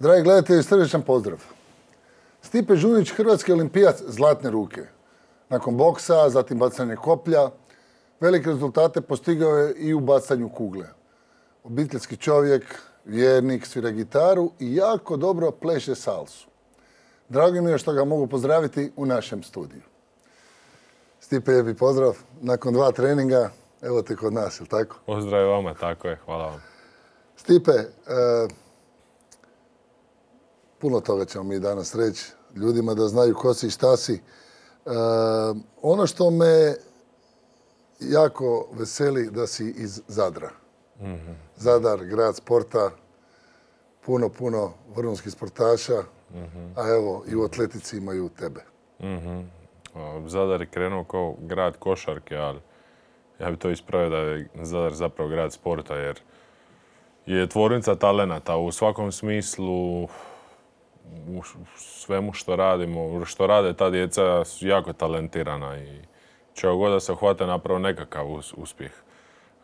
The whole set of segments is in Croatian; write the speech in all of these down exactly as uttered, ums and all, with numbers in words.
Dragi gledatelji, srdečan pozdrav. Stipe Žunić, hrvatski olimpijac zlatne ruke. Nakon boksa, zatim bacanje koplja, velike rezultate postigao je i u bacanju kugle. Obiteljski čovjek, vjernik, svira gitaru i jako dobro pleše salsu. Drago mi je što ga mogu pozdraviti u našem studiju. Stipe, lijepi pozdrav. Nakon dva treninga, evo te kod nas, je li tako? Pozdrav vama, tako je, hvala vam. Stipe, e, puno toga ćemo mi danas reći ljudima da znaju ko si i šta si. E, ono što me jako veseli da si iz Zadra. Mm-hmm. Zadar, grad sporta, puno, puno vrhunskih sportaša, mm-hmm. a evo i u atletici imaju tebe. Mm-hmm. Zadar je krenuo kao grad košarke, ali ja bi to ispravio da je Zadar zapravo grad sporta, jer je tvornica talenata u svakom smislu, u svemu što radimo, što rade ta djeca su jako talentirana i čega god da se hvate napravo nekakav uspjeh.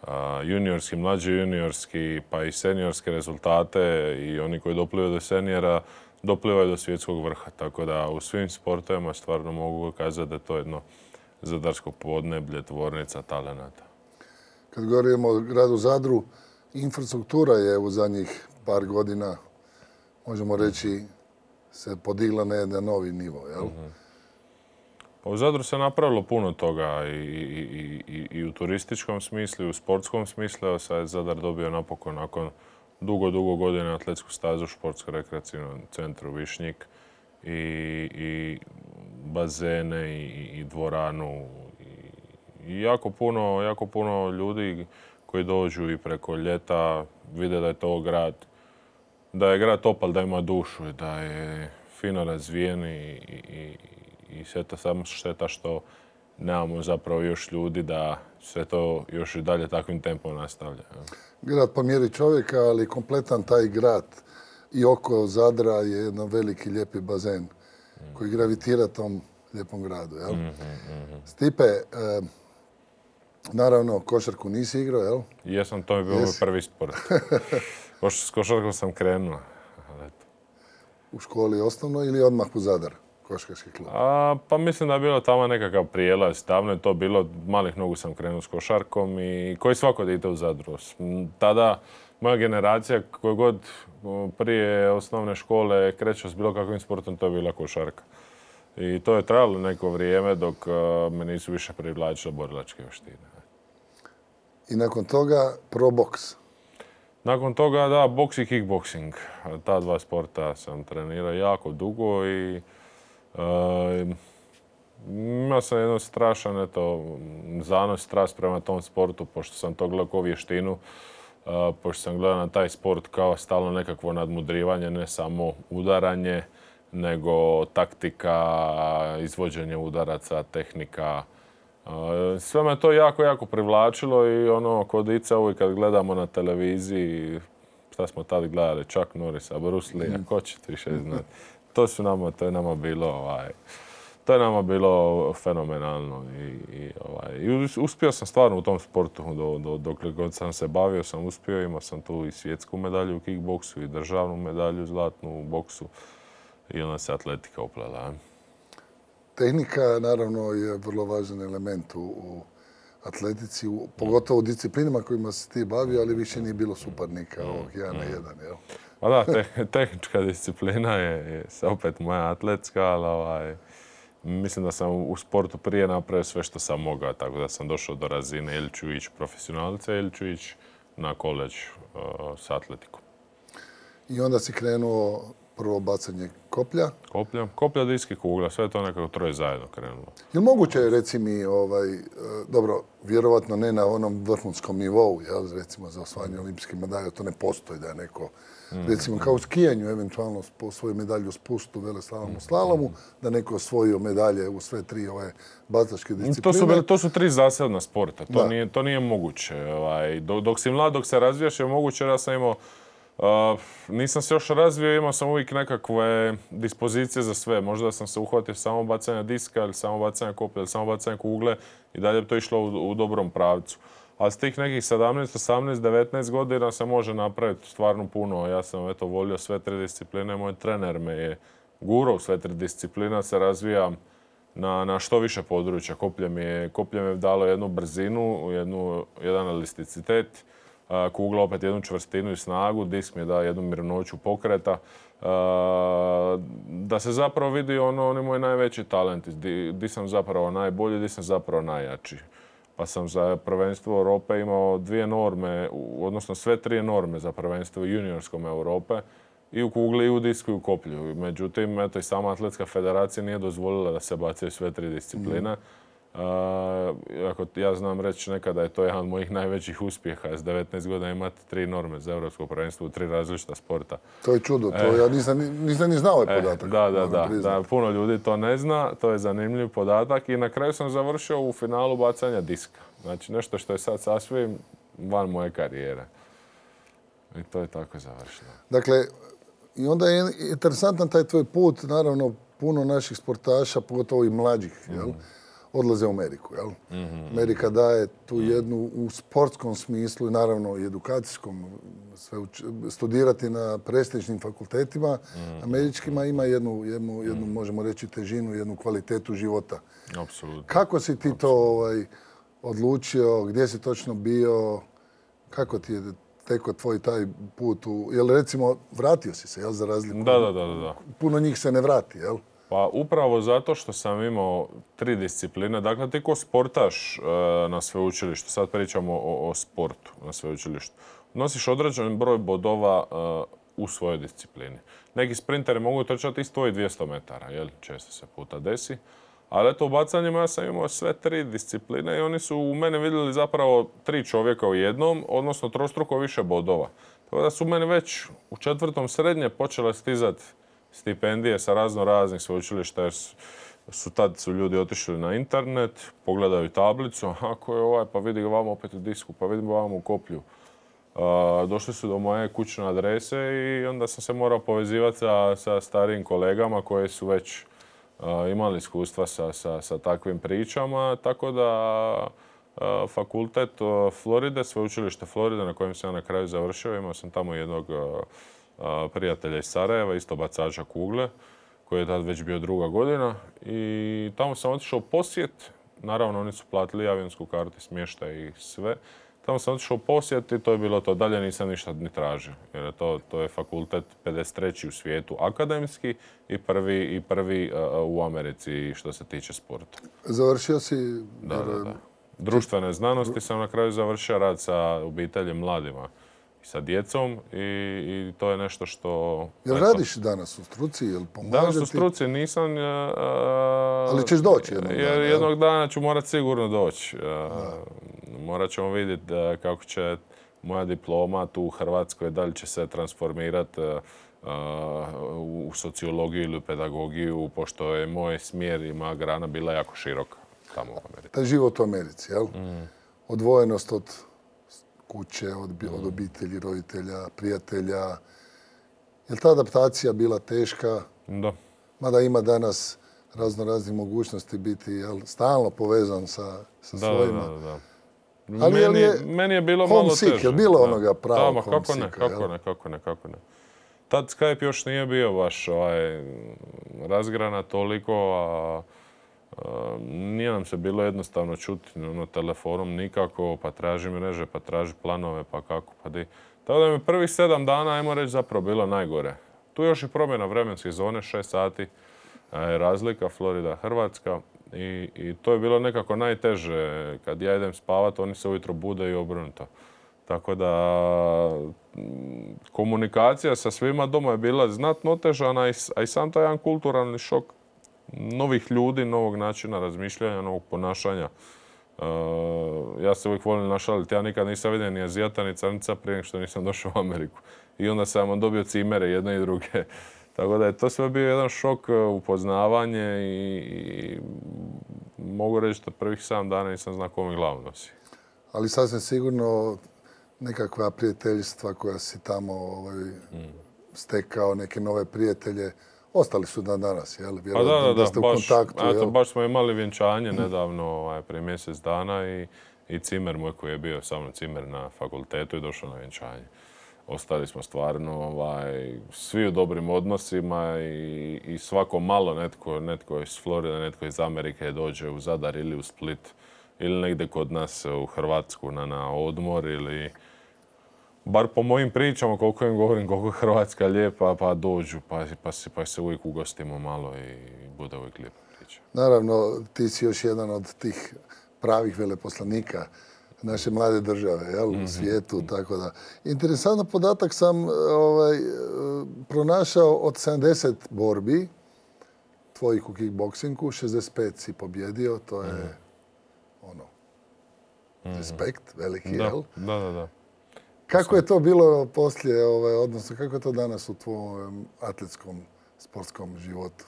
Uh, juniorski, mlađi juniorski, pa i seniorske rezultate i oni koji doplivaju do senijera, doplivaju do svjetskog vrha. Tako da u svim sportovima stvarno mogu kazati da je to jedno zadarsko podneblje, tvornica talenata. Kad govorimo o gradu Zadru, infrastruktura je u zadnjih par godina, možemo reći, se podigla na jedan novi nivo, jel? Mm-hmm. Pa u Zadru se napravilo puno toga i, i, i, i u turističkom smislu, i u sportskom smislu. Sad je Zadar dobio napokon nakon dugo, dugo godina atletsku stazu u športsko-rekreacijnom centru Višnjik i, i bazene i, i dvoranu. I, i jako puno, jako puno ljudi koji dođu i preko ljeta vide da je to grad, da je grad topal, da ima dušu, da je fino razvijen i, i, i sve to samo šteta što nemamo zapravo još ljudi da sve to još i dalje takvim tempom nastavlja. Grad po mjeri čovjeka, ali kompletan taj grad i oko Zadra je jedan veliki lijepi bazen mm. koji gravitira tom lijepom gradu. Jel? Mm-hmm, mm-hmm. Stipe, eh, naravno košarku nisi igrao, jel? Jesam, to je bio moj prvi sport. S košarkom sam krenuo. U školi osnovno ili odmah u Zadar? Košarkaški klub? A, pa mislim da je bilo tamo nekakav prijelaz. Davno je to bilo, malih nogu sam krenuo s košarkom i koji svako dite u Zadru. Tada moja generacija koja god prije osnovne škole kreće s bilo kakvim sportom, to je bila košarka. I to je trajalo neko vrijeme dok uh, me nisu više privlačile borilačke vještine. I nakon toga pro boks? Nakon toga da, boks i kickboksing. Ta dva sporta sam trenirao jako dugo i Uh, imao sam jedno strašan eto, zanos, strast prema tom sportu, pošto sam to gledao kao vještinu, uh, pošto sam gledao na taj sport kao stalno nekakvo nadmudrivanje, ne samo udaranje, nego taktika, izvođenje udaraca, tehnika. Uh, sve me to jako, jako privlačilo i ono, kod Ica uvijek kad gledamo na televiziji, šta smo tad gledali, Chuck Norrisa, Bruce Lee, ko će više znati. To su nama, to je nama bilo, ovaj, to je nama bilo fenomenalno i, i, ovaj, i uspio sam stvarno u tom sportu do, do, dokle god sam se bavio, sam uspio, imao sam tu i svjetsku medalju u kickboksu i državnu medalju zlatnu u boksu i onda se atletika uplela. Tehnika naravno je vrlo važan element u, u atletici, u, pogotovo u disciplinama kojima se ti bavio, ali više nije bilo suparnika ovog jedan na jedan, jel? Pa da, te, tehnička disciplina je, je opet moja atletska, ali ovaj, mislim da sam u sportu prije napravio sve što sam mogao, tako da sam došao do razine ili ću ići profesionalca ili ću ići na koleđ uh, s atletikom. I onda si krenuo prvo bacanje koplja? Koplja, koplja, diski, kugla, sve to nekako troje zajedno krenulo. Je li moguće, reci mi, ovaj, dobro, vjerovatno ne na onom vrhunskom nivou, jel, recimo za osvajanje olimpijske medalje, to ne postoji da je neko, mm. recimo kao u skijanju, eventualno svoju medalju u spustu, veleslalomu, slalomu, da neko osvojio medalje u sve tri ove bacačke discipline. To su, to su tri zasebna sporta, to, nije, to nije moguće. Ovaj, dok, dok si mlad, dok se razvijaš je moguće, ja sam imao Uh, nisam se još razvio, imao sam uvijek nekakve dispozicije za sve. Možda sam se uhvatio samo bacanja diska ili samo bacanja koplja ili samo bacanja kugle i dalje bi to išlo u, u dobrom pravcu. A s tih nekih sedamnaest, osamnaest, devetnaest godina se može napraviti stvarno puno. Ja sam eto volio sve tri discipline, moj trener me je gurao sve tri disciplina, se razvijam na, na što više područja. Koplje mi je, koplje mi je dalo jednu brzinu, jednu, jedan elasticitet, kugla opet jednu čvrstinu i snagu, disk mi je dao jednu mirnoću pokreta. Da se zapravo vidi ono, oni moji najveći talenti, di, di sam zapravo najbolji, di sam zapravo najjači. Pa sam za prvenstvo Europe imao dvije norme, odnosno sve tri norme za prvenstvo juniorskom Europe. I u kugli, i u disku, i u koplju. Međutim, eto, i sama atletska federacija nije dozvolila da se bacaju sve tri discipline. Mm. Uh, ako ja znam reći nekada je to jedan od mojih najvećih uspjeha. S devetnaest godina imati tri norme za europsko prvenstvo u tri različita sporta. To je čudo, to e, ja nisam, nisam ni znao ovaj podatak. E, da, da, da, da. Puno ljudi to ne zna, to je zanimljiv podatak. I na kraju sam završio u finalu bacanja diska. Znači nešto što je sad sasvim van moje karijere. I to je tako završeno. Dakle, i onda je interesantan taj tvoj put, naravno puno naših sportaša, pogotovo i mlađih, jel? Mm. Odlaze u Ameriku, jel? Mm-hmm. Amerika daje tu jednu u sportskom smislu i naravno i edukacijskom, sve uč, studirati na prestižnim fakultetima mm-hmm. američkima ima jednu, jednu, jednu, možemo reći, težinu, jednu kvalitetu života. Apsolutno. Kako si ti to ovaj, odlučio, gdje si točno bio, kako ti je teko tvoj taj put u... Jel recimo, vratio si se, jel, za razliku? Da, da, da, da. Puno njih se ne vrati, jel? Pa upravo zato što sam imao tri discipline. Dakle, ti ko sportaš e, na sveučilištu, sad pričamo o, o sportu na sveučilištu, nosiš određen broj bodova e, u svojoj disciplini. Neki sprinteri mogu trčati isto tvojih dvjesto metara, jel? Često se puta desi. Ali eto, u bacanjima ja sam imao sve tri discipline i oni su u mene vidjeli zapravo tri čovjeka u jednom, odnosno trostruko više bodova. Tako da su meni već u četvrtom srednje počele stizati stipendije sa razno raznih sveučilišta jer su, su tad su ljudi otišli na internet, pogledaju tablicu, ako je ovaj, pa vidi ga vamo opet u disku, pa vidim vamo u koplju. Uh, došli su do moje kućne adrese i onda sam se morao povezivati sa, sa starijim kolegama koji su već uh, imali iskustva sa, sa, sa takvim pričama, tako da uh, fakultet uh, Floride, sveučilište Floride na kojem sam ja na kraju završio, imao sam tamo jednog uh, prijatelja iz Sarajeva, isto bacača kugle, koji je tad već bio druga godina. I tamo sam otišao posjet. Naravno, oni su platili avionsku kartu, smještaj i sve. Tamo sam otišao posjet i to je bilo to. Dalje nisam ništa ni tražio. Jer je to, to je fakultet pedeset treći u svijetu akademski i prvi, i prvi uh, u Americi što se tiče sporta. Završio si... Da, da, da. Društvene znanosti sam na kraju završio rad sa obiteljem mladima. Sa djecom i, i to je nešto što... Jel radiš danas u struci? Jel pomaže ti? Danas u struci nisam... Uh, Ali ćeš doći jednog dana? Jer jednog dana ću morat sigurno doći. Uh, morat ćemo vidjeti uh, kako će moja diploma tu u Hrvatskoj, da li će se transformirati uh, u sociologiju ili u pedagogiju, pošto je moj smjer i moja grana bila jako široka tamo u Americi. Taj život u Americi, jel? Mm. Odvojenost od kuće, od, od obitelji, roditelja, prijatelja. Je li ta adaptacija bila teška? Da. Mada ima danas razno raznih mogućnosti biti, jel, stalno povezan sa, sa da, svojima. Da, da, da. Ali meni, je, meni je bilo malo teže. Homesick, je li bilo onoga pravog kako homesicka? Ne, kako ne, kako ne, kako ne. Tad Skype još nije bio baš ovaj, razgrana toliko, a nije nam se bilo jednostavno čuti ono, telefonom nikako, pa traži mreže, pa traži planove, pa kako, pa di. Tako da mi prvih sedam dana, ajmo reći, zapravo bilo najgore. Tu još i promjena vremenske zone, šest sati je razlika, Florida, Hrvatska. I, I to je bilo nekako najteže. Kad ja idem spavat, oni se ujutro bude i obrnuto. Tako da komunikacija sa svima doma je bila znatno otežana, a i sam taj jedan kulturalni šok novih ljudi, novog načina razmišljanja, novog ponašanja. Uh, ja se uvijek volim našaliti. Ja nikad nisam vidio ni Azijata, ni Crnca prije nego što nisam došao u Ameriku. I onda sam dobio cimere jedne i druge. Tako da je to sve bio jedan šok, upoznavanje i, i mogu reći da prvih sedam dana nisam znao kome glavu nosi. Ali sasvim sigurno nekakva prijateljstva koja si tamo ovaj, mm. stekao, neke nove prijatelje, ostali su dan danas, jel? Pa da, da, da, ste u baš, kontaktu, eto, baš smo imali vjenčanje nedavno, ovaj, prije mjesec dana i, i cimer moj koji je bio sa mnom cimer na fakultetu i došao na vjenčanje. Ostali smo stvarno ovaj, svi u dobrim odnosima i, i svako malo netko, netko iz Floride, netko iz Amerike dođe u Zadar ili u Split ili negdje kod nas u Hrvatsku na, na odmor ili bar po mojim pričama koliko im govorim koliko je Hrvatska lijepa pa dođu pa, pa, pa se uvijek ugostimo malo i bude uvijek lijepa priča. Naravno, ti si još jedan od tih pravih veleposlanika naše mlade države, jel, u svijetu, tako da. Interesantan podatak sam ovaj, pronašao od sedamdeset borbi tvojih u kickboksingu, šezdeset pet si pobjedio, to je mm. ono, respekt, veliki, da, jel? Da, da, da. Kako je to bilo poslije, ovaj, odnosno kako je to danas u tvojem atletskom, sportskom životu?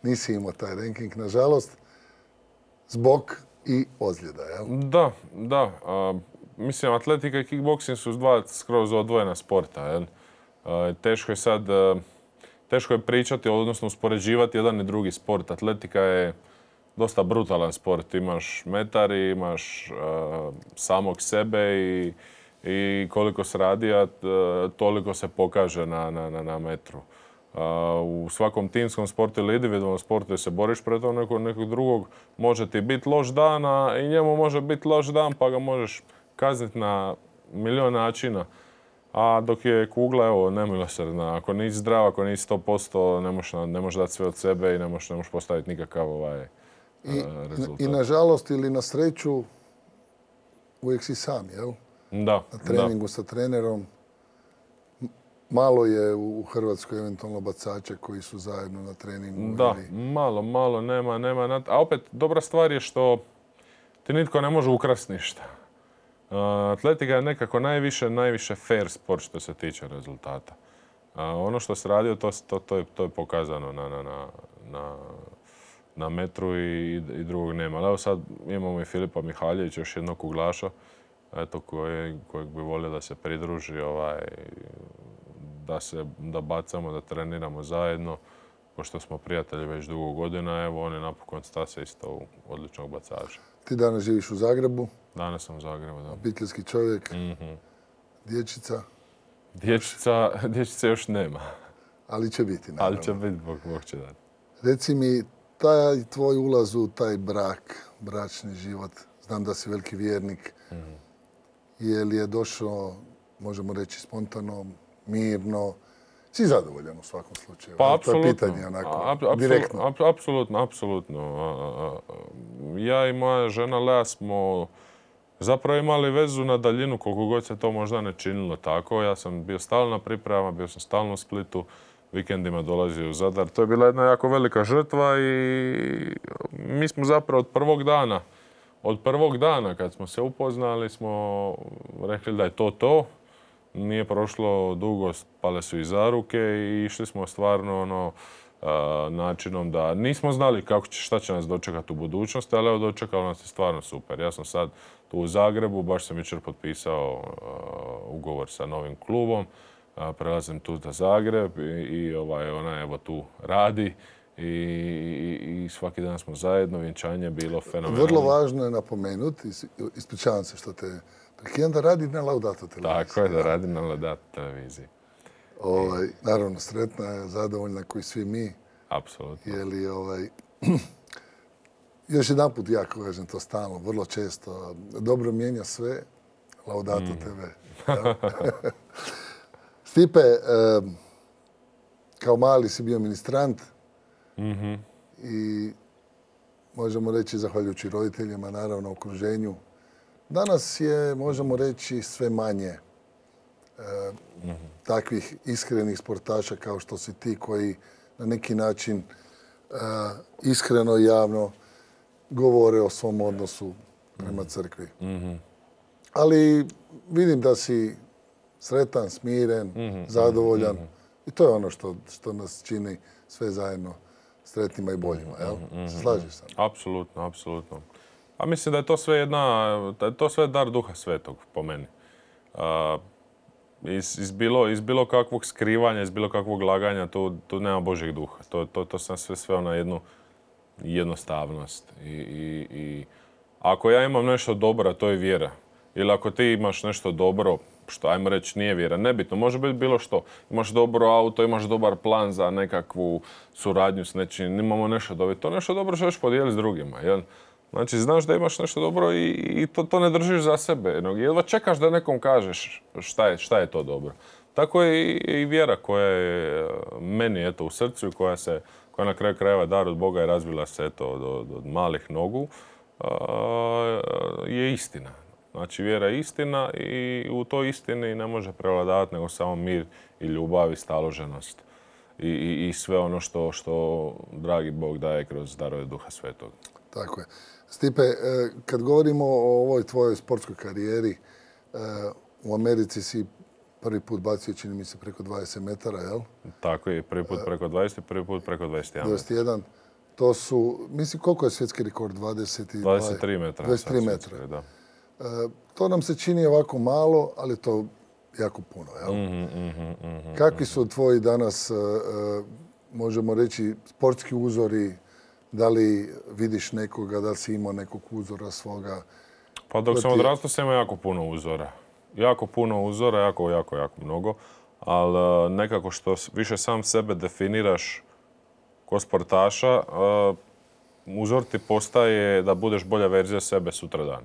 Nisi imao taj ranking, nažalost, zbog i ozljeda, jel? Da, da. A, mislim, atletika i kickboksing su dva skroz odvojena sporta, jel? A, teško je sad, a, teško je pričati, odnosno uspoređivati jedan i drugi sport. Atletika je dosta brutalan sport. Imaš metari, imaš a, samog sebe i, i koliko se radi, a toliko se pokaže na, na, na, na metru. U svakom timskom sportu ili individualnom sportu gdje se boriš protiv nekog, nekog drugog, može ti biti loš dan, a i njemu može biti loš dan, pa ga možeš kazniti na milion načina. A dok je kugla, evo, nemilosrdna. Ako nisi zdrav, ako nisi sto posto, ne možeš, ne možeš dati sve od sebe i ne možeš, ne možeš postaviti nikakav ovaj, I, rezultat. I nažalost ili na sreću, uvijek si sam, jel? Da. Na treningu da. Sa trenerom. Malo je u Hrvatskoj eventualno bacača koji su zajedno na treningu. Da, ili... malo, malo, nema, nema. A opet, dobra stvar je što ti nitko ne može ukrasti ništa. Uh, atletika je nekako najviše, najviše fair sport što se tiče rezultata. Uh, ono što se radio, to, to, to, je, to je pokazano na, na, na, na, na metru i, i drugog nema. Ali evo sad imamo i Filipa Mihaljevića, još jednog kuglaša, eto, koje, kojeg bi volio da se pridruži, ovaj, da se da bacamo, da treniramo zajedno, pošto smo prijatelji već dugo godina, evo on je napokon stase isto u odličnog bacača. Ti danas živiš u Zagrebu? Danas sam u Zagrebu, da. Obiteljski čovjek, Mm-hmm. dječica? Dječica, dječice još nema. Ali će biti, naravno. Ali će biti, Bog, Bog će dati. Reci mi, taj tvoj ulaz u taj brak, bračni život, znam da si veliki vjernik, mm-hmm. je li je došao, možemo reći, spontano, mirno, si zadovoljan u svakom slučaju? Pa, to je pitanje onako, a, direktno. Apsolutno, apsolutno. Ja i moja žena Lea smo zapravo imali vezu na daljinu, koliko god se to možda ne činilo tako. Ja sam bio stalno na pripremama, bio sam stalno u Splitu, vikendima dolazio u Zadar. To je bila jedna jako velika žrtva i mi smo zapravo od prvog dana, od prvog dana kad smo se upoznali smo rekli da je to to. Nije prošlo dugo, pale su i zaruke i išli smo stvarno ono, načinom da nismo znali kako će, šta će nas dočekati u budućnosti, ali evo dočekalo nas je stvarno super. Ja sam sad tu u Zagrebu, baš sam jučer potpisao ugovor sa novim klubom, prelazim tu za Zagreb i, i ovaj, ona evo tu radi. I, i, i svaki dan smo zajedno, vjenčanje je bilo fenomenalno. Vrlo važno je napomenuti, ispričavam se što te prekidam, da radi na Laudato televiziji. Tako je, da radi na Laudato televiziji. Ovaj, naravno, sretna je, zadovoljna koji svi mi. Apsolutno. Jeli, ovaj, još jedan put ja kažem to stalno, vrlo često. Dobro mijenja sve, Laudato mm. te ve. Stipe, eh, kao mali si bio ministrant, mm-hmm. i možemo reći, zahvaljujući roditeljima, naravno, okruženju. Danas je, možemo reći, sve manje e, mm-hmm. takvih iskrenih sportaša kao što si ti koji na neki način e, iskreno i javno govore o svom odnosu prema crkvi. Mm-hmm. Ali vidim da si sretan, smiren, mm-hmm. zadovoljan mm-hmm. i to je ono što, što nas čini sve zajedno sretnima i boljima, jel? Mm-hmm. Se slažeš sa mnom? Apsolutno, apsolutno. A mislim da je to sve jedna, da je to sve dar Duha Svetog, po meni. Uh, iz, iz, bilo, iz bilo kakvog skrivanja, iz bilo kakvog laganja, tu, tu nema Božjeg duha. To, to, to sam sve sveo na jednu jednostavnost. I, i, i ako ja imam nešto dobro, a to je vjera, ili ako ti imaš nešto dobro, što ajmo reći nije vjera, nebitno, može biti bilo što. Imaš dobro auto, imaš dobar plan za nekakvu suradnju s nečim, imamo nešto dobro. To nešto dobro želiš podijeliti s drugima, jel? Znači, znaš da imaš nešto dobro i, i to, to ne držiš za sebe. Jedva čekaš da nekom kažeš šta je, šta je to dobro. Tako je i, i vjera koja je meni eto, u srcu i koja, se, koja na kraju krajeva dar od Boga je razvila se eto, od, od malih nogu, a, je istina. Znači, vjera je istina i u toj istini ne može prevladavati nego samo mir i ljubav i staloženost. I, i, i sve ono što, što dragi Bog daje kroz darove Duha Svetog. Tako je. Stipe, kad govorimo o ovoj tvojoj sportskoj karijeri, u Americi si prvi put bacio, čini mi se, preko dvadeset metara, jel? Tako je, prvi put preko dvadeset i prvi put preko dvadeset jedan. dvadeset jedan. To su, mislim, koliko je svjetski rekord? dvadeset i dva, dvadeset tri metra. dvadeset tri metra. Svjetski, da. To nam se čini ovako malo, ali to jako puno, jel? Mm-hmm, mm-hmm, mm-hmm, Kakvi su tvoji danas, možemo reći, sportski uzori? Da li vidiš nekoga, da li si imao nekog uzora svoga? Pa dok sam odrastao sam imao jako puno uzora. Jako puno uzora, jako, jako, jako mnogo. Ali nekako što više sam sebe definiraš ko sportaša, uzor ti postaje da budeš bolja verzija sebe sutradan.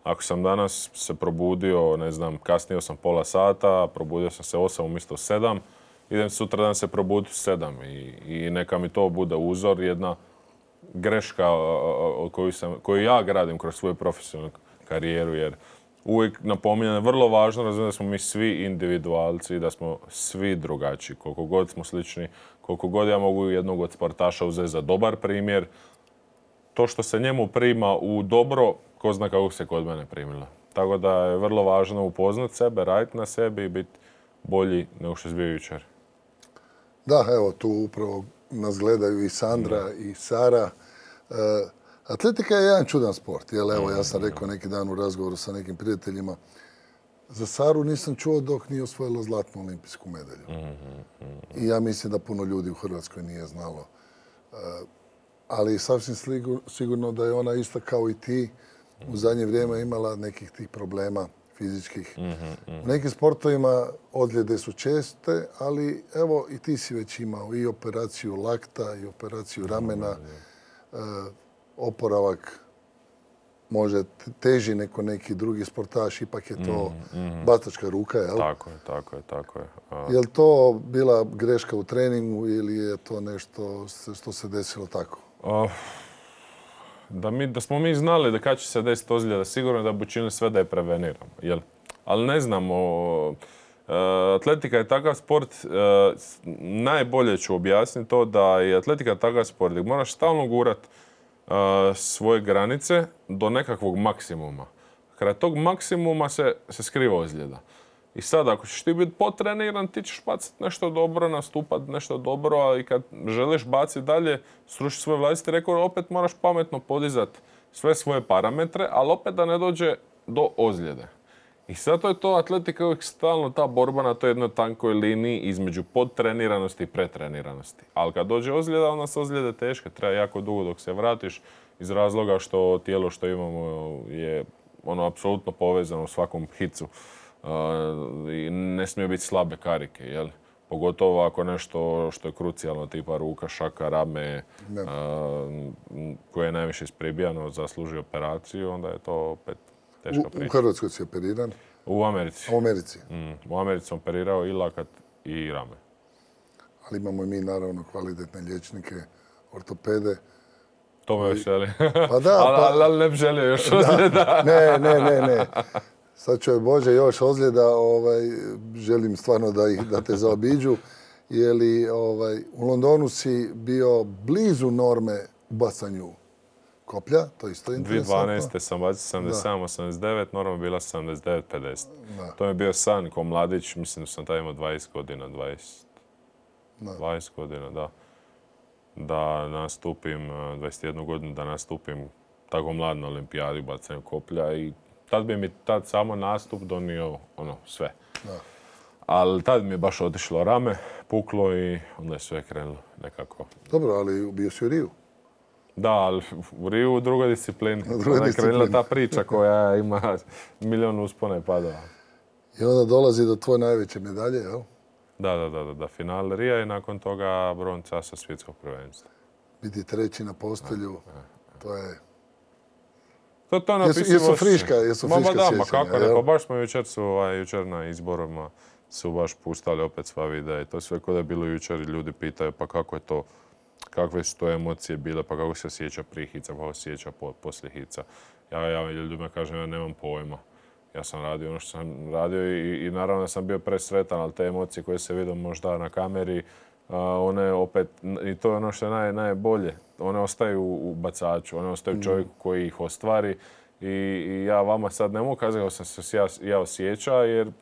Ako sam danas se probudio, ne znam, kasnio sam pola sata, probudio sam se osam umjesto sedam, idem sutradan se probuditi u sedam i, i neka mi to bude uzor, jedna greška koju, sam, koju ja gradim kroz svoju profesionalnu karijeru, jer uvijek napominjem, vrlo važno razumijem da smo mi svi individualci, da smo svi drugačiji. Koliko god smo slični, koliko god ja mogu jednog od sportaša uzeti za dobar primjer, to što se njemu prima u dobro, ko zna kako se kod mene primilo. Tako da je vrlo važno upoznati sebe, raditi na sebi i biti bolji nego što je bio jučer. Da, evo tu upravo nas gledaju i Sandra da. i Sara. E, atletika je jedan čudan sport. Jel, evo, ja sam rekao neki dan u razgovoru sa nekim prijateljima. Za Saru nisam čuo dok nije osvojila zlatnu olimpijsku medalju. I ja mislim da puno ljudi u Hrvatskoj nije znalo. E, ali sasvim sigurno da je ona ista kao i ti u zadnje vrijeme imala nekih tih problema fizičkih. U nekim sportovima ozljede su česte, ali evo i ti si već imao i operaciju lakta i operaciju ramena. E, oporavak može teži neko neki drugi sportaš, ipak je to bacačka ruka, jel? Tako je, tako je, tako je. A... Je li to bila greška u treningu ili je to nešto što se desilo tako? Uh, da, mi, da smo mi znali da kad će se desiti ozljeda, sigurno da bi učinili sve da je preveniramo. Jel? Ali ne znamo. Uh, atletika je takav sport, uh, najbolje ću objasniti to da je atletika takav sport gdje moraš stalno gurati uh, svoje granice do nekakvog maksimuma. Kraj tog maksimuma se, se skriva ozljeda. I sad, ako ćeš ti biti potreniran, ti ćeš baciti nešto dobro, nastupati nešto dobro, ali kad želiš baciti dalje, srušiti svoj vlastiti rekord, opet moraš pametno podizati sve svoje parametre, ali opet da ne dođe do ozljede. I zato je to atletika uvijek stalno ta borba na toj jednoj tankoj liniji između podtreniranosti i pretreniranosti. Ali kad dođe ozljeda, onda su ozljede teške, treba jako dugo dok se vratiš iz razloga što tijelo što imamo je ono apsolutno povezano u svakom hicu. Uh, i ne smije biti slabe karike, jel? Pogotovo ako nešto što je krucijalno, tipa ruka, šaka, rame, uh, koje je najviše ispribijano, zasluži operaciju, onda je to opet teška priča. U Hrvatskoj si operiran? U Americi. U Americi? Mm, u Americi sam operirao i lakat i rame. Ali imamo i mi naravno kvalitetne liječnike, ortopede. To me veseli. Pa da, ali, pa... ali ne bi želio još ozljeda. Ne, ne, ne, ne. Sad čuje Bože još ozljeda, ovaj, želim stvarno da, ih, da te zaobiđu. Jeli, ovaj, u Londonu si bio blizu norme u bacanju koplja, to isto je interesantno. dvije tisuće dvanaeste sam bacio sedamdeset sedam osamdeset devet, norma je bila sedamdeset devet pedeset. Da. To mi je bio san ko mladić, mislim da sam tada imao dvadeset godina, dvadeset, da. dvadeset godina, da. Da nastupim, dvadeset jednu godinu, da nastupim tako mlad na olimpijadi u bacanju koplja i tad bi mi tad samo nastup donio ono, sve. Da. Ali tad mi je baš otišlo rame, puklo i onda je sve krenulo nekako. Dobro, ali bio si u Riju. Da, ali u Riju u drugoj disciplini. U drugoj Ona je krenula disciplini. ta priča koja ima milion uspona i padova. I onda dolazi do tvoje najveće medalje, jel? Da, da, da, da, da. Final Rija i nakon toga bronca sa svjetskog prvenstva. Biti treći na postelju, to je... To, to je Jesu, napisivo jesu osjećaj. friška, jesu Ma, ma friška da, ma sjećanja, kako ne, jel? pa baš smo jučer su, ovaj, jučer na izborima su baš pustali opet sva videa i to sve kod je bilo jučer i ljudi pitaju pa kako je to, kakve su to emocije bile, pa kako se osjeća prije hica, kako se osjeća po, poslije hica. Ja, ja ljudima kažem, ja nemam pojma. Ja sam radio ono što sam radio i, i naravno da sam bio presretan, ali te emocije koje se vidim možda na kameri, a, one opet, i to je ono što je naj, najbolje, one ostaju u bacaču, one ostaju čovjeku koji ih ostvari. I, i ja vama sad ne mogu kazati kako sam se ja, ja osjeća, jer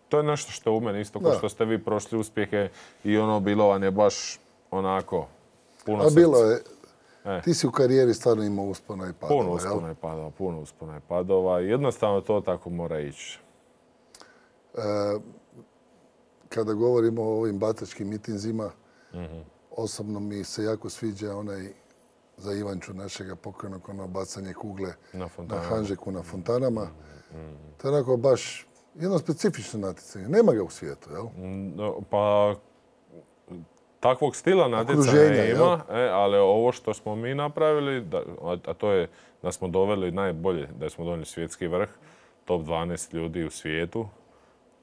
to je nešto što je u meni isto kao što ste vi prošli uspjehe i ono bilo vam je baš onako puno A bilo je, E. ti si u karijeri stvarno imao uspona i padova, Puno uspona i padova, puno uspona i padova. Jednostavno to tako mora ići. E, kada govorimo o ovim batačkim mitinzima, Mm-hmm. osobno mi se jako sviđa onaj za Ivanču našega pokojnog, ono bacanje kugle Na, na Hanžeku na fontanama. Mm-hmm. To je onako baš jedno specifično natjecanje. Nema ga u svijetu, jel? No, pa takvog stila natjecanja Okruženja, ima, e, ali ovo što smo mi napravili, da, a to je da smo doveli najbolje, da smo donijeli svjetski vrh, top dvanaest ljudi u svijetu,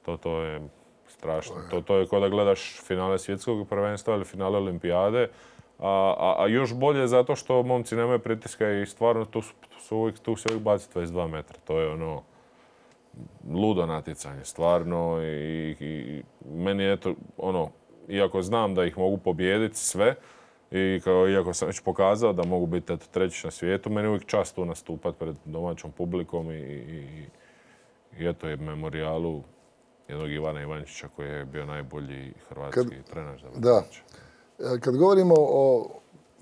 to, to je strašno. To je, to, to je kao da gledaš finale svjetskog prvenstva ili finale olimpijade, a, a, a još bolje zato što momci nemaju pritiska i stvarno tu su uvijek, tu se uvijek baci dvadeset dva metra. To je ono ludo natjecanje, stvarno. I, i meni je to ono, iako znam da ih mogu pobijediti sve, i kao, iako sam već pokazao da mogu biti eto, treći na svijetu, meni je uvijek čast tu nastupati pred domaćom publikom i, i, i eto je memorijalu jednog Ivana Ivančića koji je bio najbolji hrvatski kad, trener za vrtić. Da. Kad govorimo o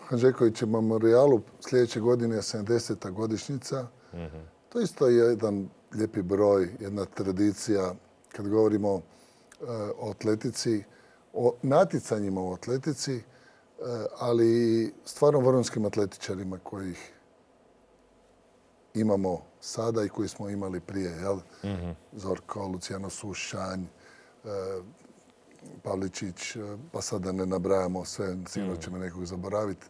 Hanžekovićem memorijalu, sljedeće godine je sedamdeseta godišnjica. Mm-hmm. To isto je jedan lijepi broj, jedna tradicija. Kad govorimo uh, o atletici, o natjecanjima u atletici, uh, ali i stvarno vrhunskim atletičarima kojih imamo sada i koji smo imali prije. Jel? Mm-hmm. Zorko, Luciano Sušanj, uh, Pavličić, pa sad da ne nabrajamo sve, sigurno ćemo nekog zaboraviti.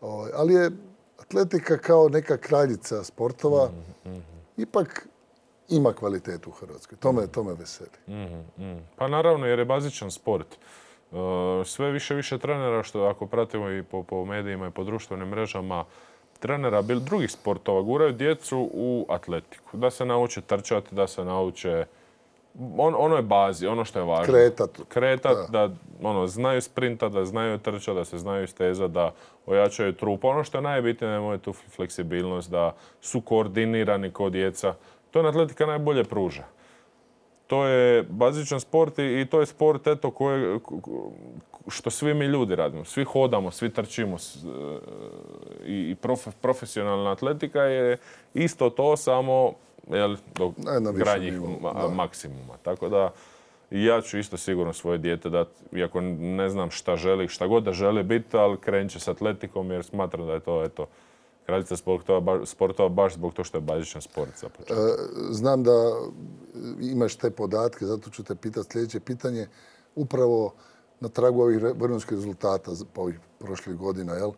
Uh, ali je atletika kao neka kraljica sportova, mm-hmm. ipak ima kvalitetu u Hrvatskoj. To me, to me veseli. Mm-hmm. Pa naravno, jer je bazičan sport. Uh, sve više više trenera, što ako pratimo i po, po medijima i po društvenim mrežama, trenera bil drugih sportova guraju djecu u atletiku. Da se nauče trčati, da se nauče on, ono je bazi, ono što je važno. Kretat. Kretat, da, da ono, znaju sprinta, da znaju trčati, da se znaju stezati, da ojačaju trup. Ono što je najbitnije, da imaju tu fleksibilnost, da su koordinirani kao djeca. To je atletika najbolje pruža. To je bazičan sport i, i to je sport eto, koje, što svi mi ljudi radimo. Svi hodamo, svi trčimo. I, i prof, profesionalna atletika je isto to, samo jel, do krajnjih maksimuma. Tako da ja ću isto sigurno svoje dijete dati, iako ne znam šta želi, šta god da želi biti, ali krenut će s atletikom jer smatram da je to eto, kraljica sportova, sportova baš zbog to što je bazičan sport za početak. Znam da imaš te podatke, zato ću te pitati sljedeće pitanje. Upravo na tragu ovih vrhunskih rezultata po ovih prošlih godina, jel?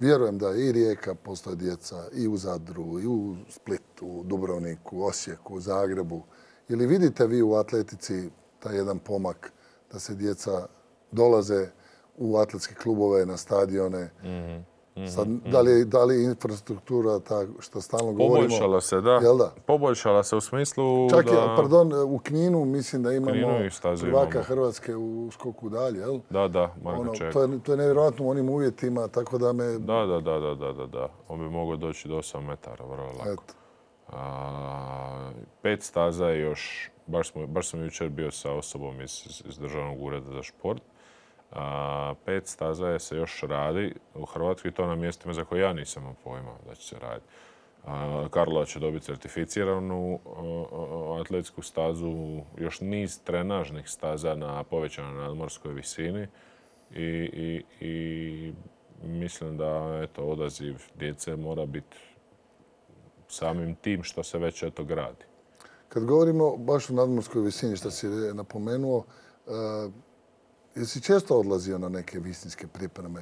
Vjerujem da i Rijeka postoje djeca, i u Zadru, i u Splitu, u Dubrovniku, Osijeku, Zagrebu. Ili vidite vi u atletici taj jedan pomak da se djeca dolaze u atletske klubove, na stadione? Mm-hmm. Sad, da li, da li infrastruktura, ta što stalno govorimo... Poboljšala se, da. Jel da? Poboljšala se u smislu Čak da... je, pardon, u Kninu mislim da imamo prvaka imamo. Hrvatske u skoku dalje, jel? Da, da, Marko ono, Ček. To je, to je nevjerojatno u onim uvjetima, tako da me... Da, da, da, da, da, da, da. On bi mogao doći do osam metara, vrlo lako. A, pet staza je još, baš, smo, baš sam jučer bio sa osobom iz, iz Državnog ureda za šport. A, pet staza je se još radi u Hrvatskoj, to na mjestima za koje ja nisam imao pojma da će se raditi. A, Karlova će dobiti certificiranu o, o, atletsku stazu, još niz trenažnih staza na povećanoj nadmorskoj visini i, i, i mislim da eto, odaziv djece mora biti samim tim što se već eto gradi. Kad govorimo baš o nadmorskoj visini, što si napomenuo, uh, jesi često odlazio na neke visinske pripreme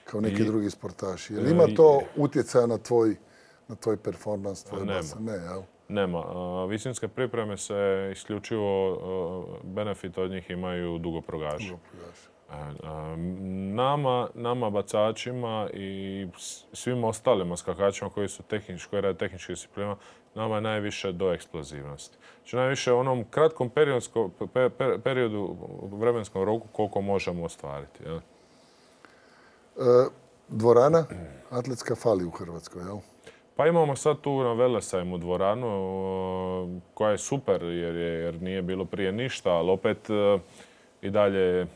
kao neki I, drugi sportaši? Jel ima to utjecaja na tvoj, na tvoj performans, tvoj basen? Ne, jel? Nema. Visinske pripreme se isključivo benefit od njih imaju dugoprogaši. Nama, nama bacačima i svim ostalim skakačima koji su tehnički, koji rade tehničke discipline, nama je najviše do eksplozivnosti. Znači najviše u onom kratkom periodu, vremenskom roku koliko možemo ostvariti. Jel? E, dvorana atletska fali u Hrvatskoj, jel? Pa imamo sad tu na Velesajmu dvoranu koja je super jer, je, jer nije bilo prije ništa, ali opet i dalje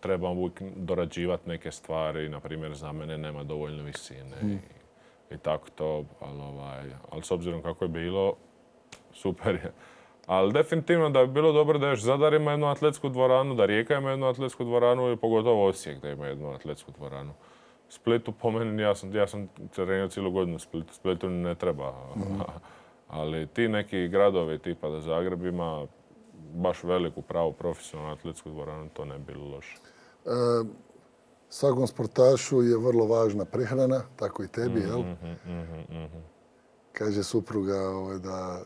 trebamo uvijek dorađivati neke stvari. Na primjer, za mene nema dovoljno visine mm. i, i tako to. Ali, ovaj, ali s obzirom kako je bilo, super je. Ali definitivno da bi bilo dobro da još Zadar ima jednu atletsku dvoranu, da Rijeka ima jednu atletsku dvoranu i pogotovo Osijek da ima jednu atletsku dvoranu. Splitu po meni, ja sam, ja sam trenirao cijelu godinu u Splitu, Splitu ne treba. Mm. Ali ti neki gradovi tipa da Zagreb ima baš veliku pravu profesionalnu atletsku dvoranu, to ne bi bilo loše. E, svakom sportašu je vrlo važna prehrana, tako i tebi, jel? Mm-hmm, mm-hmm, mm-hmm. Kaže supruga ovaj, da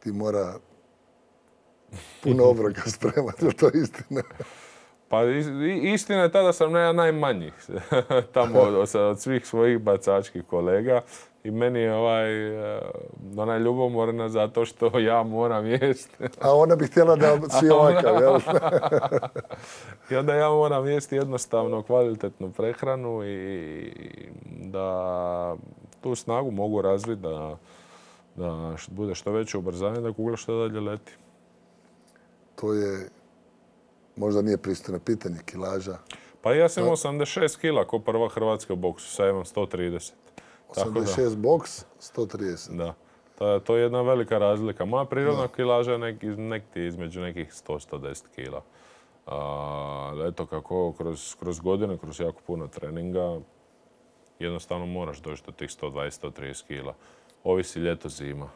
ti mora puno obroka spremati, je to istina? Pa istina je ta da sam ja najmanji tamo od, od svih svojih bacačkih kolega i meni je ovaj, ona je ljubomorna zato što ja moram jesti. A ona bi htjela da si ovakav, jel? I onda ja moram jesti jednostavno kvalitetnu prehranu i da tu snagu mogu razviti da, da bude što veće ubrzanje, da kugla što dalje leti. To je možda nije pristojno pitanje, kilaža. Pa ja sam imao osamdeset šest kila ko prva Hrvatska u boksu, sad imam sto trideset. osamdeset šest boks, sto trideset. Da. To, to je jedna velika razlika. Moja prirodna da. kilaža je nek, nek, između nekih sto do sto deset kila. A, eto kako kroz, kroz godine, kroz jako puno treninga, jednostavno moraš doći do tih sto dvadeset do sto trideset kila. Ovisi ljeto, zima.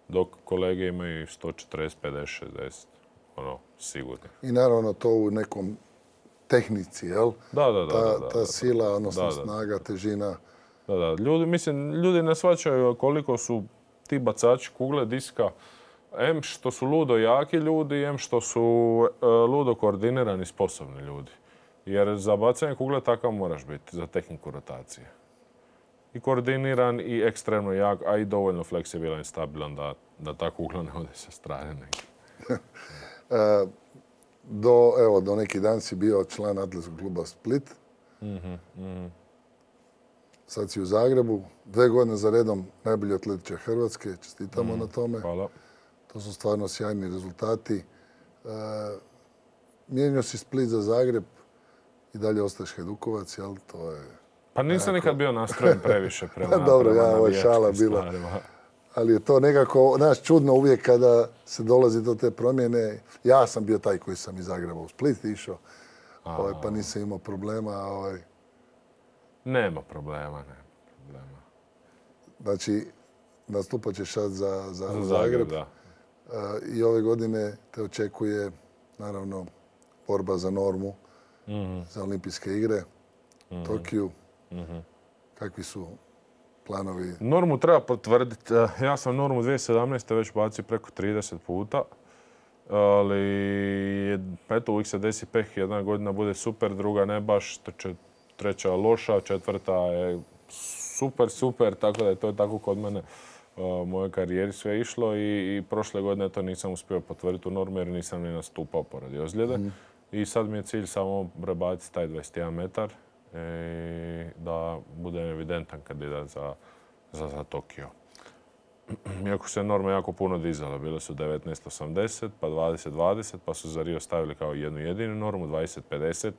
Dok kolege imaju sto četrdeset, pedeset, šezdeset. Ono, sigurno. I naravno to u nekom tehnici, jel? Da, da, da. Ta, da, da, ta sila, odnosno da, da, snaga, težina. Da, da. Ljudi, mislim, ljudi ne shvaćaju koliko su ti bacači kugle diska, em što su ludo jaki ljudi, em što su uh, ludo koordinirani, sposobni ljudi. Jer za bacanje kugle takav moraš biti, za tehniku rotacije. I koordiniran, i ekstremno jak, a i dovoljno fleksibilan i stabilan da, da ta kugla ne ode sa strane negdje. do, evo, do neki dan si bio član atletskog kluba Split. Mm-hmm, mm-hmm. Sad si u Zagrebu. Dve godine za redom najbolji atletičar Hrvatske. Čestitamo mm-hmm. na tome. Hvala. To su stvarno sjajni rezultati. E, mijenio si Split za Zagreb i dalje ostaješ Hajdukovac, jel? To je... Pa nisam nikad bio nastrojen previše prema Dobro, ja, ovo je šala bila. Stvarima. Ali je to nekako, znaš, čudno uvijek kada se dolazi do te promjene. Ja sam bio taj koji sam iz Zagreba u Split išao, ovaj, pa nisam imao problema. Ovaj. Nema problema, nema problema. Znači, nastupat ćeš sad za, za, za Zagreb. Zagreb da. Uh, I ove godine te očekuje, naravno, borba za normu, mm-hmm. za olimpijske igre, mm-hmm. Tokiju. Mm-hmm. Kakvi su planovi? Normu treba potvrditi. Ja sam normu dvije tisuće sedamnaeste. već bacio preko trideset puta. Ali, eto, uvijek se desi peh. Jedna godina bude super, druga ne baš, treća loša, četvrta je super, super. Tako da je to tako kod mene u mojoj karijeri sve išlo. I, i prošle godine to nisam uspio potvrditi u normu jer nisam ni nastupao poradi ozljede. Mm. I sad mi je cilj samo prebaciti taj dvadeset jedan metar. I da budem evidentan kandidat za, za, za Tokio. Iako se norme jako puno dizale, bile su devetnaest osamdeset, pa dvadeset dvadeset, pa su za Rio stavili kao jednu jedinu normu, dvadeset pedeset.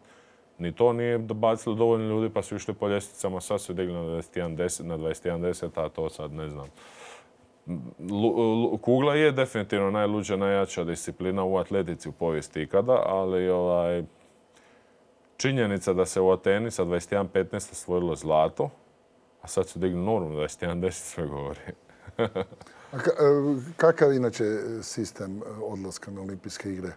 Ni to nije bacilo dovoljno ljudi, pa su išli po ljestvicama, sad su digli na dvadeset jedan deset, na dvadeset jedan deset, a to sad ne znam. Kugla je definitivno najluđa, najjača disciplina u atletici u povijesti ikada, ali ovaj, činjenica da se u Ateni sa dvadeset jedan petnaest osvojilo zlato, a sad su digli normu dvadeset jedan deset, sve govori. A ka, kakav inače sistem odlaska na olimpijske igre?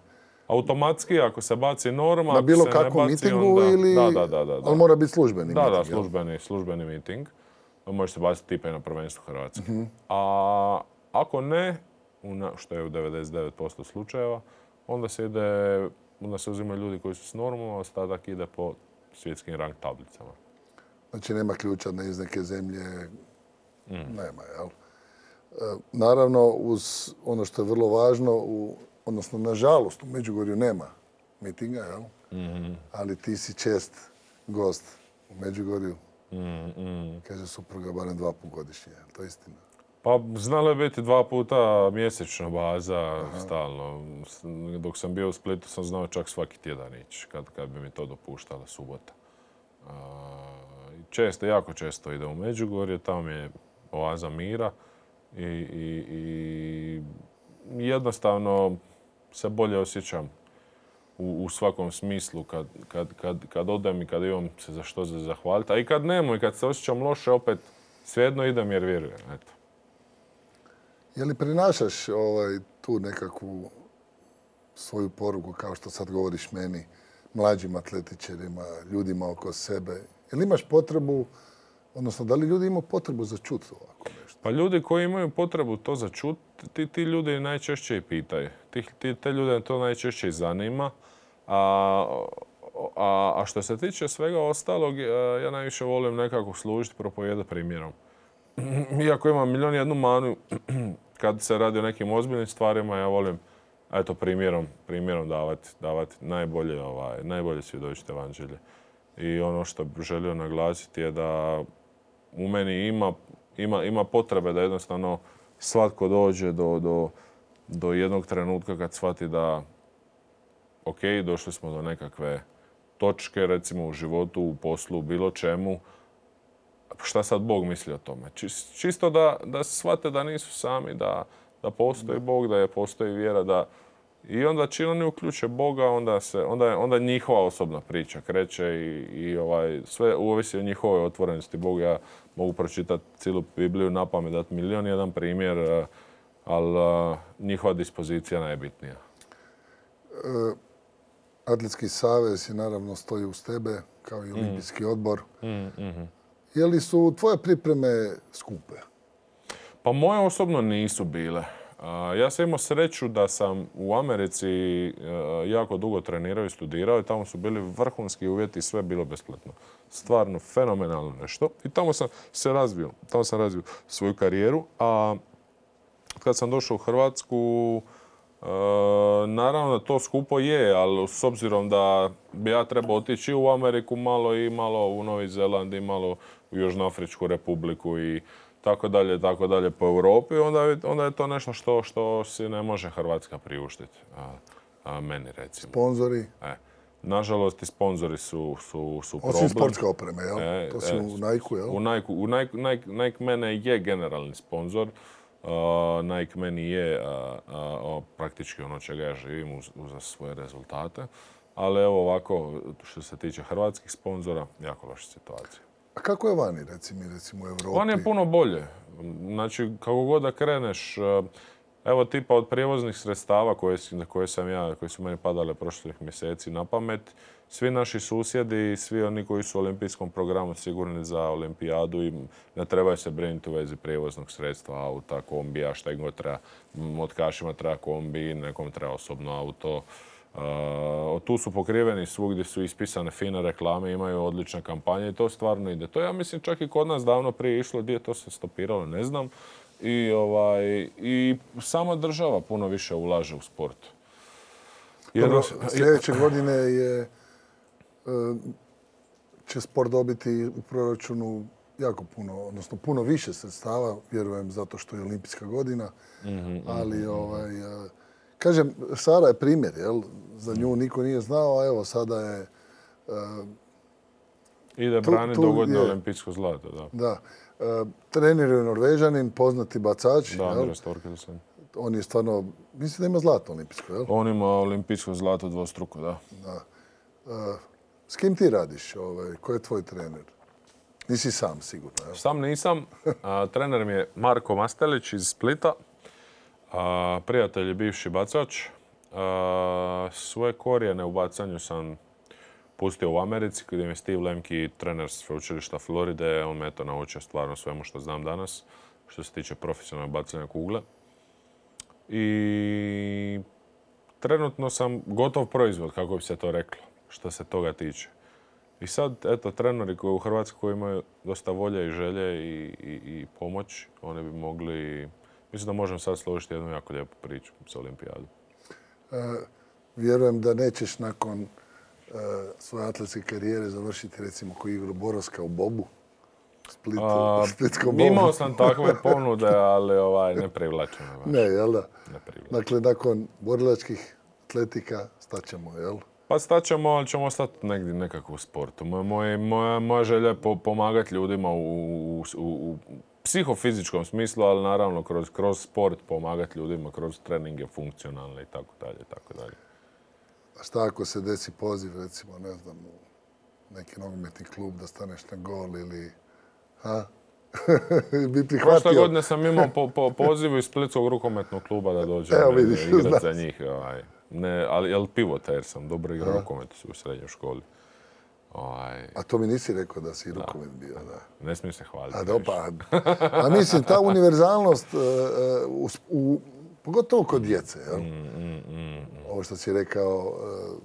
Automatski, ako se baci norma, na bilo ako se ne kakvom baci, mitingu onda... ili... Da, da, da, da. Ali mora biti službeni da, miting, Da, službeni, službeni miting. Može se baciti tipa i na prvenstvu Hrvatske. Uh-huh. A ako ne, što je u devedeset devet posto slučajeva, onda se ide, onda se uzimaju ljudi koji su s normom, a ostatak ide po svjetskim rang tablicama. Znači nema ključa iz neke zemlje, mm. nema, jel? E, naravno, uz ono što je vrlo važno, u, odnosno, nažalost, u Međugorju nema mitinga, jel? Mm-hmm. Ali ti si čest gost u Međugorju. Mm-hmm. Kaže supruga barem dva put godišnje, je to istina? Pa znalo je biti dva puta mjesečno baza, aha, stalno. Dok sam bio u Splitu sam znao čak svaki tjedan ići, kad, kad bi mi to dopuštala subota. Uh, često, jako često idem u Međugorje, tamo je oaza mira i, i, i jednostavno se bolje osjećam u, u svakom smislu kad, kad, kad, kad odem i kad imam se za što za zahvaliti. A i kad nemoj, kad se osjećam loše, opet svejedno idem jer vjerujem. Eto. Je li prinašaš ovaj, tu nekakvu svoju poruku, kao što sad govoriš meni, mlađim atletičarima, ljudima oko sebe? Je li imaš potrebu, odnosno da li ljudi imaju potrebu za čut ovako nešto? Pa ljudi koji imaju potrebu to za čut, ti, ti ljudi najčešće i pitaju. Ti, ti, te ljude to najčešće i zanima. A, a, a što se tiče svega ostalog, ja najviše volim nekako služiti, propovijedati primjerom. Iako imam milijon jednu manu, kad se radi o nekim ozbiljnim stvarima, ja volim eto, primjerom, primjerom davati, davati najbolje, ovaj, najbolje svjedočiti evanđelje. I ono što bih želio naglasiti je da u meni ima, ima, ima potrebe da jednostavno svatko dođe do, do, do jednog trenutka kad shvati da ok, došli smo do nekakve točke, recimo u životu, u poslu, u bilo čemu. Šta sad Bog misli o tome? Čisto da, da shvate da nisu sami, da, da postoji Bog, da je postoji vjera. Da... I onda čim oni uključe Boga, onda, se, onda, onda njihova osobna priča kreće i, i ovaj, sve ovisi o njihovoj otvorenosti Boga. Ja mogu pročitati cijelu Bibliju napamet, dati milijon jedan primjer, ali njihova dispozicija najbitnija. E, Atletski savez je naravno stoji uz tebe, kao i Olimpijski mm. odbor. Mm, mm-hmm. Je li su tvoje pripreme skupe? Pa moje osobno nisu bile. Ja sam imao sreću da sam u Americi jako dugo trenirao i studirao i tamo su bili vrhunski uvjeti, sve bilo besplatno. Stvarno fenomenalno nešto. I tamo sam se razvio. Tamo sam razvio svoju karijeru. A kad sam došao u Hrvatsku, naravno da to skupo je, ali s obzirom da bi ja trebao otići u Ameriku malo i malo u Novi Zeland i malo u Južnoafričku republiku i tako dalje, tako dalje po Europi, onda je, onda je to nešto što, što si ne može Hrvatska priuštiti. A, a meni recimo. Sponzori? E, nažalost i sponzori su, su, su problem. Osim sportska opreme, jel? E, to su e, u Nike-u, jel? U Nike, u Nike, Nike, Nike mene je generalni sponzor. Uh, Nike meni je uh, uh, praktički ono čega ja živim uz, uz svoje rezultate. Ali evo ovako, što se tiče hrvatskih sponzora, jako loša situacija. A kako je vani, recimo, recimo u Europi? Vani je puno bolje. Znači, kako god da kreneš, evo tipa od prijevoznih sredstava koje, koje sam ja, koje su meni padale prošlih mjeseci na pamet, svi naši susjedi, svi oni koji su u olimpijskom programu sigurni za olimpijadu i ne trebaju se brinuti u vezi prijevoznog sredstva, auta, kombija, šta im god treba. Otkašima treba kombi, nekom treba osobno auto. Uh, tu su pokriveni svugdje su ispisane fine reklame, imaju odlične kampanje i to stvarno ide. To ja mislim čak i kod nas davno prije išlo, gdje je to se stopiralo, ne znam. I, ovaj, i sama država puno više ulaže u sport. Dobro, sljedeće godine je, će sport dobiti u proračunu jako puno, odnosno puno više sredstava, vjerujem zato što je olimpijska godina, mm-hmm, ali mm-hmm. ovaj, kažem, Sara je primjer, jel? Za nju niko nije znao, a evo sada je... Uh, Ide braniti dogodne olimpijsko zlato, da. Da. Uh, trener je Norvežanin, poznati bacač. Da, Andres Torkelsen. On je stvarno, mislim da ima zlato olimpijsko, jel? On ima olimpijsko zlato dvostruko, da. Da. Uh, S kim ti radiš? Ovaj, ko je tvoj trener? Nisi sam, sigurno. Jel? Sam nisam. A, trener mi je Marko Mastelić iz Splita. A, prijatelj je bivši bacač. A, svoje korijene u bacanju sam pustio u Americi, gdje mi je Steve Lemke, trener sveučilišta Floride. On me je to naučio stvarno svemu što znam danas, što se tiče profesionalnog bacanja kugle. I trenutno sam gotov proizvod, kako bi se to reklo, što se toga tiče. I sad, eto, treneri koji u Hrvatskoj koji imaju dosta volje i želje i, i, i pomoć, oni bi mogli... Mislim da možemo sad složiti jednu jako lijepu priču sa Olimpijadom. E, vjerujem da nećeš nakon e, svoje atletske karijere završiti recimo koji igru Borovska u Bobu. Splitu, A, Splitskom Bobu. Imao sam takve ponude, ali ovaj, ne privlačeno. Ne, jel da? Ne privlačeno. Dakle, nakon borilačkih atletika staćemo, jel? Pa staćemo, ali ćemo ostati negdje nekako u sportu. Moja, moja, moja, moja želja je po, pomagati ljudima u, u, u, u psihofizičkom smislu, ali naravno kroz, kroz sport pomagati ljudima, kroz treninge funkcionalne i tako dalje, tako dalje. A šta ako se desi poziv, recimo, ne znam, u neki nogometni klub da staneš na gol ili... Ha? bi prihvatio? Prošle godine sam imao po, po pozivu iz Splitskog rukometnog kluba da dođem igrati za njih. Ovaj. Ne, ali, ali pivota jer sam dobro igrao rukomet u srednjoj školi. Ovaj. A to mi nisi rekao da si rukomet bio, da. Ne smijem se hvaliti. A, dopa, a mislim, ta univerzalnost, uh, u, u, pogotovo kod djece, jel? Mm, mm, mm. Ovo što si rekao, uh,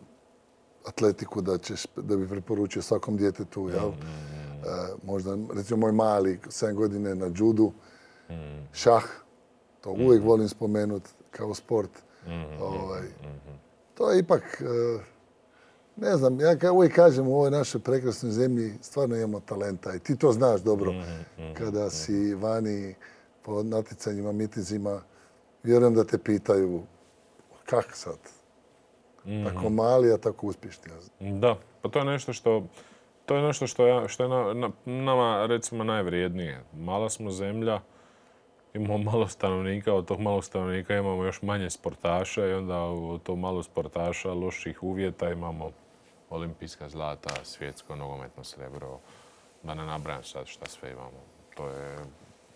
atletiku da, ćeš, da bi preporučio svakom djetetu, jel? Mm, mm. Uh, možda, recimo, moj mali, sedam godine na judu, mm. šah, to uvijek mm. volim spomenuti kao sport. Mm, ovaj, mm, to je ipak, uh, ne znam, ja uvijek kažem u ovoj našoj prekrasnoj zemlji stvarno imamo talenta i ti to znaš dobro. Mm, mm, kada si vani po natjecanjima, mitinzima, vjerujem da te pitaju kak sad? Mm. Tako mali, a tako uspješni. Da, pa to je nešto što, to je nešto što, ja, što je na, na, nama recimo najvrijednije. Mala smo zemlja, imamo malo stanovnika, od tog malog stanovnika imamo još manje sportaša i onda od tog malo sportaša, loših uvjeta imamo olimpijska zlata, svjetsko nogometno srebro, da ne nabrajam sad šta sve imamo. To je,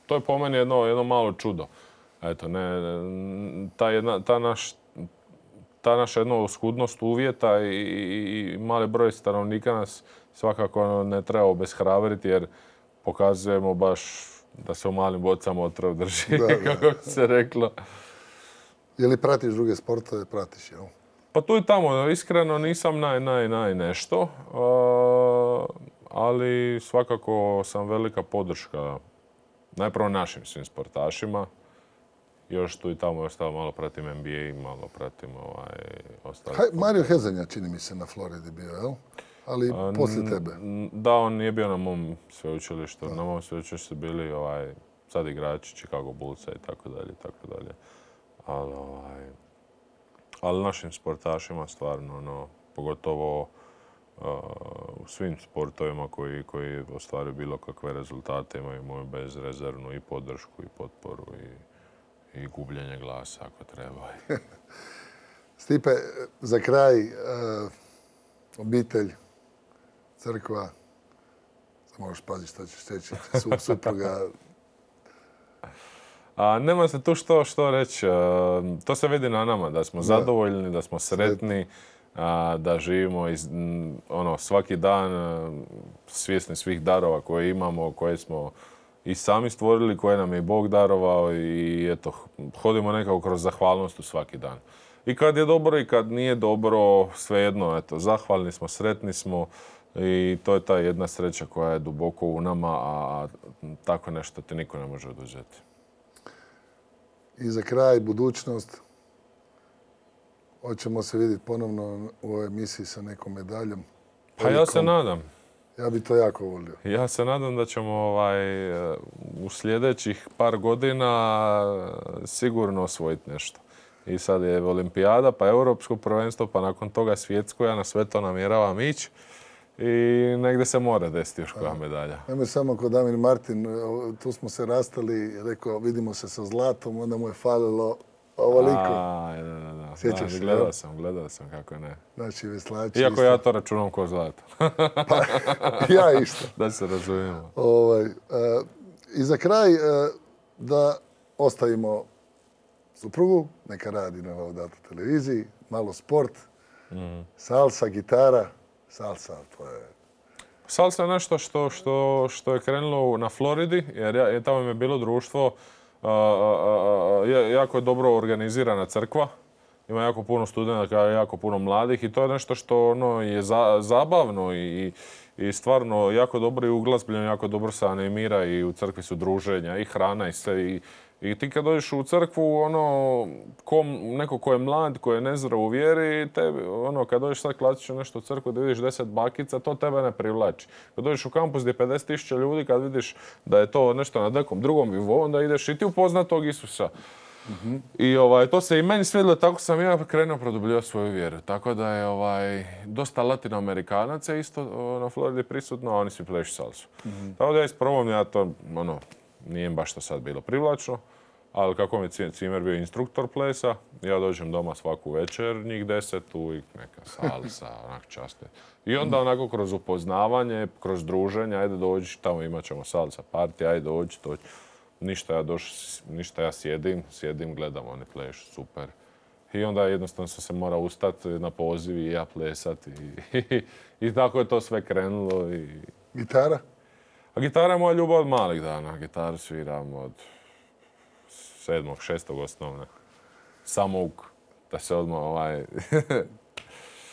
to je po meni jedno, jedno malo čudo. Eto, ne, ta, jedna, ta, naš, ta naša jedna oskudnost uvjeta i, i, i mali broj stanovnika nas svakako ne treba obeshrabriti jer pokazujemo baš da se u malim bocama otrov drži, da, da. Kako bi se reklo. Je li pratiš druge sportove? Pratiš, jel? Pa tu i tamo, iskreno nisam naj, naj, naj nešto, ali svakako sam velika podrška najprvo našim svim sportašima. Još tu i tamo ostalo malo pratim N B A, malo pratim ovaj, ostale. Mario Hezanja čini mi se na Floridi bio, jel? Ali A, poslije tebe. Da, on nije bio na mom sveučilištu. Da. Na mom sveučilištu su bili ovaj, sad igrači Chicago Bullsa i tako dalje, tako dalje. Ali, ovaj, ali našim sportašima stvarno, ono, pogotovo uh, u svim sportovima koji, koji ostvaruju bilo kakve rezultate, imaju moju bezrezervnu i podršku i potporu i, i gubljenje glasa ako treba. Stipe, za kraj, uh, obitelj, crkva, samo moraš paziti što ćeš reći, supruga. A, nema se tu što, što reći. A, to se vidi na nama, da smo da. zadovoljni, da smo sretni, a, da živimo iz, ono, svaki dan a, svjesni svih darova koje imamo, koje smo i sami stvorili, koje nam je Bog darovao i eto, hodimo nekako kroz zahvalnost u svaki dan. I kad je dobro i kad nije dobro, svejedno, eto, zahvalni smo, sretni smo i to je ta jedna sreća koja je duboko u nama, a tako nešto ti niko ne može oduzeti. I za kraj, budućnost. Hoćemo se vidjeti ponovno u ovoj emisiji sa nekom medaljom. Pa ja se nadam. Ja bi to jako volio. Ja se nadam da ćemo ovaj, u sljedećih par godina sigurno osvojiti nešto. I sad je Olimpijada, pa Europsko prvenstvo, pa nakon toga svjetsko. Ja na sve to namjeravam ići. I negdje se mora desiti još koja medalja. Ajme samo kod Damir Martin, tu smo se rastali, rekao vidimo se sa zlatom, onda mu je falilo ovoliko. A, da, da, da. da. Sjećaš da, se, gledao jel? sam, gledao sam kako ne. Znači, veslači Iako isto. ja to računam ko zlato. Pa, ja isto. Da se razumijemo. Ovaj, e, I za kraj, e, da ostavimo suprugu, neka radi na Laudato televiziji, malo sport, Mm. salsa, gitara, salsa, to je... Salsa je nešto što, što, što je krenulo na Floridi, jer ja, je tamo mi je bilo društvo, a, a, a, jako je dobro organizirana crkva. Ima jako puno studenata, jako puno mladih i to je nešto što ono, je za, zabavno i, i stvarno jako dobro i uglazbljeno, jako dobro se animira i u crkvi su druženja i hrana i sve. I, i ti kad dođeš u crkvu, ono, ko, neko ko je mlad, ko je nezdrav u vjeri, tebi, ono, kad dođeš sad klasično nešto u crkvu da vidiš deset bakica, to tebe ne privlači. Kad dođeš u kampus gdje je pedeset tisuća ljudi, kad vidiš da je to nešto na nekom drugom nivou, onda ideš i ti upoznat tog Isusa. Mm-hmm. I ovaj, to se i meni svidjelo, tako sam ja krenuo produbljivati svoju vjeru. Tako da je ovaj, dosta Latinoamerikanaca isto na Floridi prisutno, a oni svi plešu salsu. Mm-hmm. Tako da ja isprobam, ja to, ono, nije baš to sad bilo privlačno, ali kako mi je Cimer bio instruktor plesa, ja dođem doma svaku večer, njih deset, uvijek neka salsa, onak časte. I onda onako kroz upoznavanje, kroz druženje, ajde dođi, tamo imat ćemo salsa party, ajde dođi, dođi. Ništa ja, doš, ništa ja sjedim, sjedim, gledam, oni plešu, super. I onda jednostavno sam se morao ustati na poziv i ja plesati. I, i, i tako je to sve krenulo. I... Gitara? A gitara je moja ljubav od malih dana. Gitaru sviram od sedmog, šestog osnovne. Samouk, da se odmah ovaj...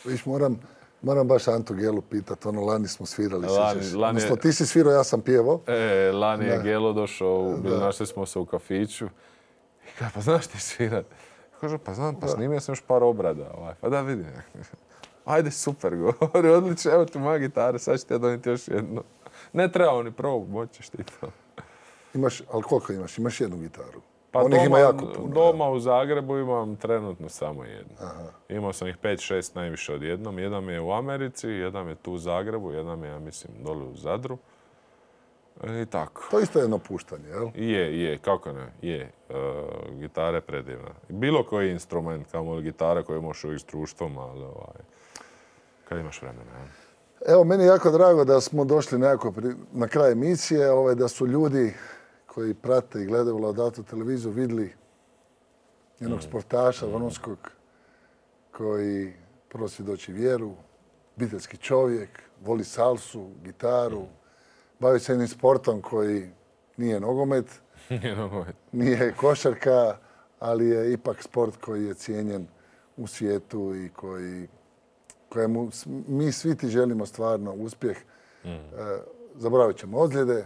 Viš, moram, moram baš Antu Gelu pitat, ono, lani smo svirali, lani, sjećaš? lani Odnosno, ti si svirao, ja sam pjevao. E, lani je da. Gelo došao, bili našli smo se u kafiću. I kaže, pa znaš ti svirat? Kaže, pa znam, pa snimio sam još par obrada. Ovaj. Pa da vidim. Ajde, super, govori, odlično, evo ti moja gitara, sad ću ti ja donijeti još jednu. Ne treba ni probu, moćeš ti to. Imaš, ali koliko imaš? Imaš jednu gitaru? Pa Onih doma, ima jako puno. Doma u Zagrebu imam trenutno samo jednu. Aha. Imao sam ih pet šest najviše odjednom. Jedan mi je u Americi, jedan je tu u Zagrebu, jedan mi je, ja mislim, dole u Zadru. I tako. To isto je jedno puštanje, jel? Je, je, kako ne, je. E, gitara je predivna. Bilo koji instrument, kao li gitara koju možeš uvijek s društvom, ali ovaj, kad imaš vremena. Ja. Evo, meni je jako drago da smo došli nekako pri, na kraj emisije, ovaj, da su ljudi koji prate i gledaju Laudato televiziju vidjeli jednog sportaša vrhunskog koji prvo svjedoči vjeru, obiteljski čovjek, voli salsu, gitaru, bavi se jednim sportom koji nije nogomet, Nije nogomet. nije košarka, ali je ipak sport koji je cijenjen u svijetu i koji, kojemu mi svi ti želimo stvarno uspjeh. Mm. E, zaboravit ćemo ozljede,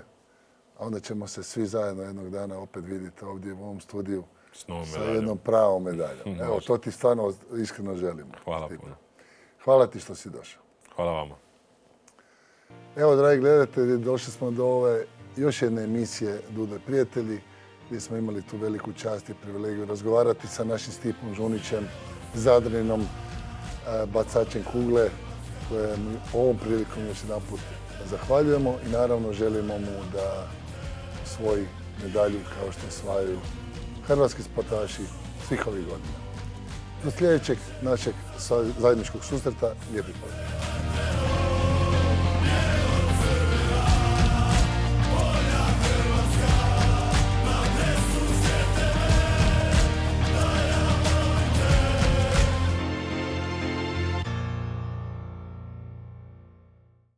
a onda ćemo se svi zajedno jednog dana opet vidjeti ovdje u ovom studiju sa jednom pravom medaljom. Evo, to ti stvarno iskreno želimo. Hvala puno. Hvala ti što si došao. Hvala vama. Evo, dragi gledatelji, došli smo do ove još jedne emisije Dudo i prijatelji, gdje smo imali tu veliku čast i privilegiju razgovarati sa našim Stipom Žunićem, Zadrinom, bacačem kugle, koje ovom prilikom još jedan put zahvaljujemo i naravno želimo mu da svoju medalju kao što osvajaju hrvatski sportaši svih ovih godina. Do sljedećeg našeg zajedničkog susreta, lijepi pozdrav.